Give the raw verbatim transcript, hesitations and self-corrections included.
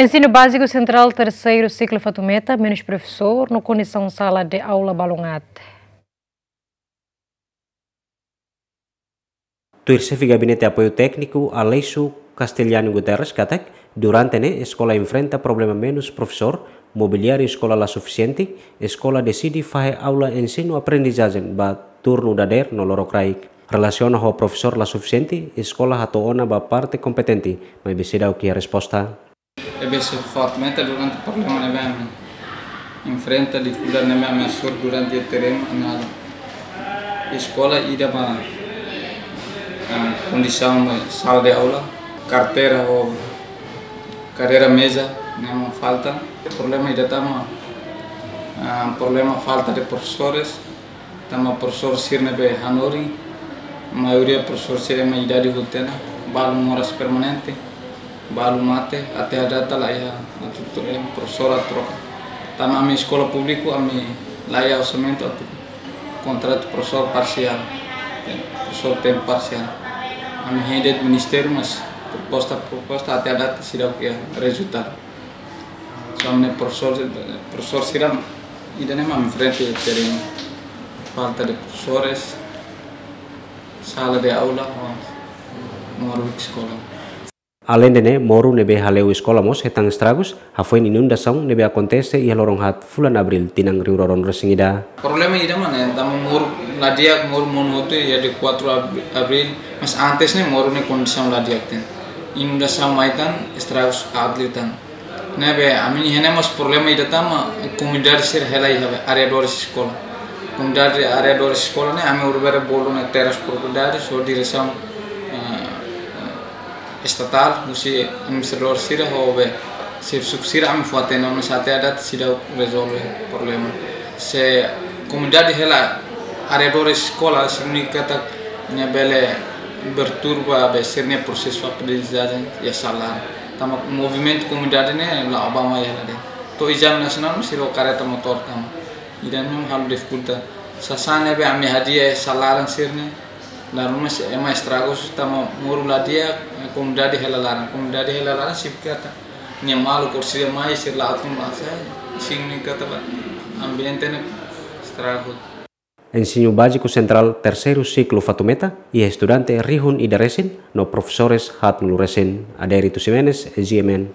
Ensinu Báziku Sentrál Terseiru Siklu Fatumeta menus profesór no kondisaun sala de aula balun aat. Tuir Xefe Gabinete Apoiu Tékniku, Aleixo Castelhano Guterres, katak durante ne'e eskola enfrenta problema menus profesór, mobiliáriu eskola la sufisiente, eskola deside fahe aula ensinu-aprendizajen ba turnu dadeer no lorokraik. Relasiona ho profesór la sufisiente, eskola hato'o ona ba parte kompetente, maibé seidauk iha resposta. Ne'ebé se fato meta durante problema ne'ebé ami enfrenta, difikuldade ne'ebé ami hasoru durante terrenu, ami halo eskola ida ba, ah, kondisaun ba sala de aula, karteira ho kadeira meza ne'e mak falta. Problema ida tama, ah, problema falta de profesores, tanba profesór sira ne'ebé hanorin, maioria profesór sira ema idade hotu ona, balu moras permanente, balu mate, até data la iha atu, eh, profesór atu troka. Tanba ami eskola públiku, ami la iha orsamentu atu kontratu profesór parsiál, eh, profesór tempu parsiál. Ami hein de'it ministériu, mas proposta, proposta até data seidauk iha rezultadu. Só ne'e profesór, profesór sira ida-ne'e mak enfrenta terrenu. Falta de profesores, sala de aula, moru eskola. Aleinde ne'e, moru ne'ebé haleu eskola mós hetan estragus, hafoin inundasaun ne'ebé akontese iha loron haat fulan Abríl tinan rihun rua ruanulu-resin-ida. Problema ida mak ne'e, tanba moru la di'ak, moru monu hotu iha dia kuatru ab-, Abríl, mas antes ne'e moru ne'e kondisaun la di'ak tan. Inundasaun mai tan, estragus aat liután. Ne'ebé, ami-nia hein ne'e mós problema ida tama, komunidade sira hela iha be, arredores eskola. Komunidade arredores eskola ne'e, ami urubere bolu ne'e terras propriedades, ho diresaun, eh, eh, estatál, husi administradór sira, ho be, servisu sira ami fó-hatene, mas até data seidauk rezolve problema. Se komunidade hela arredores eskola, signifika katak ne'e bele perturba be sira-nia prosesu aprendizajen iha sala. Tanba movimentu komunidade ne'e la'o ba mai hela de'it. To'o ezame nasionál mós sira ho kareta motór tama. Ida-ne'e halo difikulta. Sasán ne'ebé ami hadi'a iha sala laran sira-ne'e. Laran mós ema estragu tanba moru la di'ak, komunidade hela laran. Komunidade hela laran signifika katak nia maluk orsida mai sira la atu mai sai. Signifika katak ambiente ne'e estragu. Ensinu Báziku Sentrál Terseiru Siklu Fatumeta iha estudante rihun ida resin no profesores haatnulu resin. Adérito Ximenes, G M N.